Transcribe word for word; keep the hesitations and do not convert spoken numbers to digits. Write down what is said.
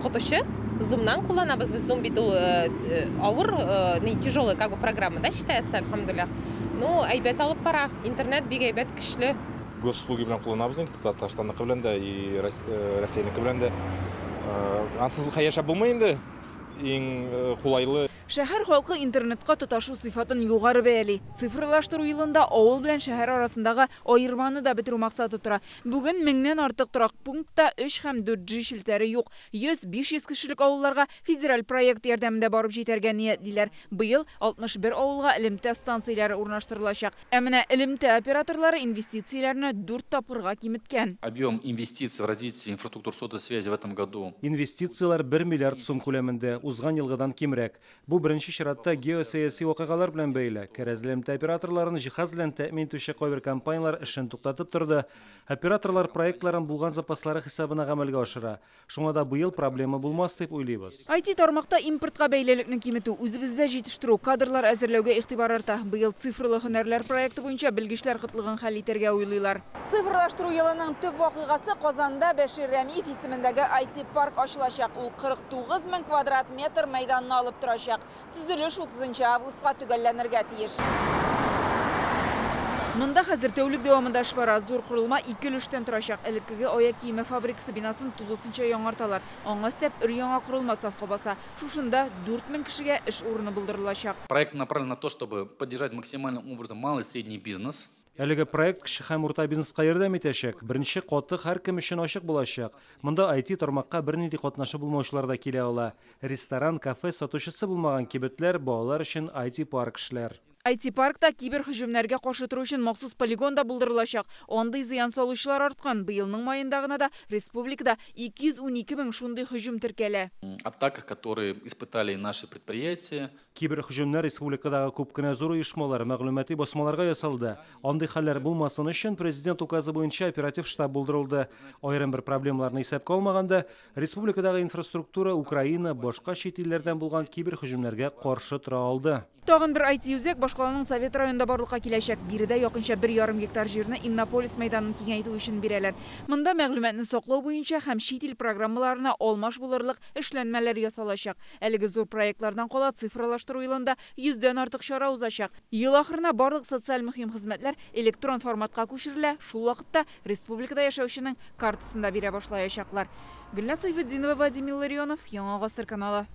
Укытучы Zoom'нан кулланабыз. Без Zoom бит ул авыр, не тяжелая как бы программа, да, считается, әлхәмдүлилләһ. Ну, әйбәт алып бара. Интернет бик әйбәт, көчле. Госуслуги белән кулланабыз инде, Татарстанныкы белән дә, и Россиянеке белән дә. Ансыз яшәп булмый инде. Иң кулайлы. Шәһәр халкы интернетка тоташу сыйфатын югары бәяли. Цифрлаштыру елында авыл белән шәһәр арасындагы аерманы да бетерү максаты тора. Бүген меңнән артык торак пунктта өч һәм дүрт G челтәре юк. йөз биш йөз кешелек авылларга федераль проект ярдәмендә барып җитәргә ниятлиләр. Быел алтмыш бер авылга элемтә станцияләре урнаштырылачак. Ә менә элемтә операторлары инвестицияләрне дүрт тапкырга киметкән. Объем инвестиций в развитие инфраструктуры сотовой связи в этом году. Инвестицияләр бер миллиард сум күләмендә, узган елгыдан кимрәк. Бу беренче чиратта геосәяси вакыйгалар белән бәйле. Кәрәзле элемтә операторларын җиһаз белән тәэмин итүче кайбер компанияләр эшен туктатып торды. Операторлар проектларын булган запаслары хисабына гамәлгә ашыра. Шуңа да быел проблема булмас дип уйлыйбыз. ай ти тармакта импортка бәйлелекне киметү, үзебездә җитештерү, кадрлар әзерләүгә игътибар арта. Быел цифрлы һөнәрләр проекты буенча белгечләр кытлыгын хәл итәргә уйлыйлар. Цифрлаштыру елының төп вакыйгасы Казанда Бәшир Рәмиев исемендәге ай ти парк ачылачак. Ул кырык тугыз мең квадрат метр мәйданны алып торачак. Төзелеш утызынчы августка төгәлләнергә тиеш. Монда хәзер тәүлек дәвамында эш бара. Зур корылма ике өлештән торачак. Элеккеге аяк киеме фабрикасы бинасын тулысынча яңарталар. Аңа өстәп өр яңа корылма сафка баса. Шушында дүрт мең кешегә эш урыны булдырылачак. Проект направлен на то, чтобы поддержать максимальным образом малый и средний бизнес. Әлеге проект кече һәм урта бизнеска ярдәм итәчәк. Беренче каты һәркем өчен ачык булачак. Монда ай ти тармакка бернинди катнашы булмаучылар да килә ала. Ресторан, кафе сатучысы булмаган кибетләр, балалар өчен ай ти парк эшләр. ай ти паркта кибер һөҗүмнәргә каршы тору өчен махсус полигон да булдырылачак. Андый зыян салучылар арткан. Быелның майында гына да республикада ике йөз унике мең шундый һөҗүм теркәлә. Атака, которые испытали наши предприятия. Кибер һөҗүмнәр республикадагы күп кенә зур оешмалар, мәгълүмати басмаларга ясалды. Андый хәлләр булмасын өчен президент указы буенча оператив штаб булдырылды. Аерым бер проблемаларны исәпкә алмаганда, республикадагы инфраструктура Украина, башка чит илләрдән булган кибер һөҗүмнәргә каршы тора алды. Тагын бер ай ти үзәк башкаланың Совет районында барлыкка киләчәк. Биредә якынча бер ярым гектар җирне Иннополис мәйданын киңәйтү өчен бирәләр. Монда мәгълүматны саклау буенча һәм чит ил программаларына алмаш булырлык эшләнмәләр ясалачак. Әлеге зур проектлардан кала цифрлаштыру елында йөздән артык чара узачак. Ел ахырына барлык социаль мөһим хезмәтләр электрон форматка күчерелә. Шул вакытта республикада яшәүченең картасын да бирә башлаячаклар. Гөлназ Сәйфетдинова, Владимир Ларионов, Яңа Гасыр каналы.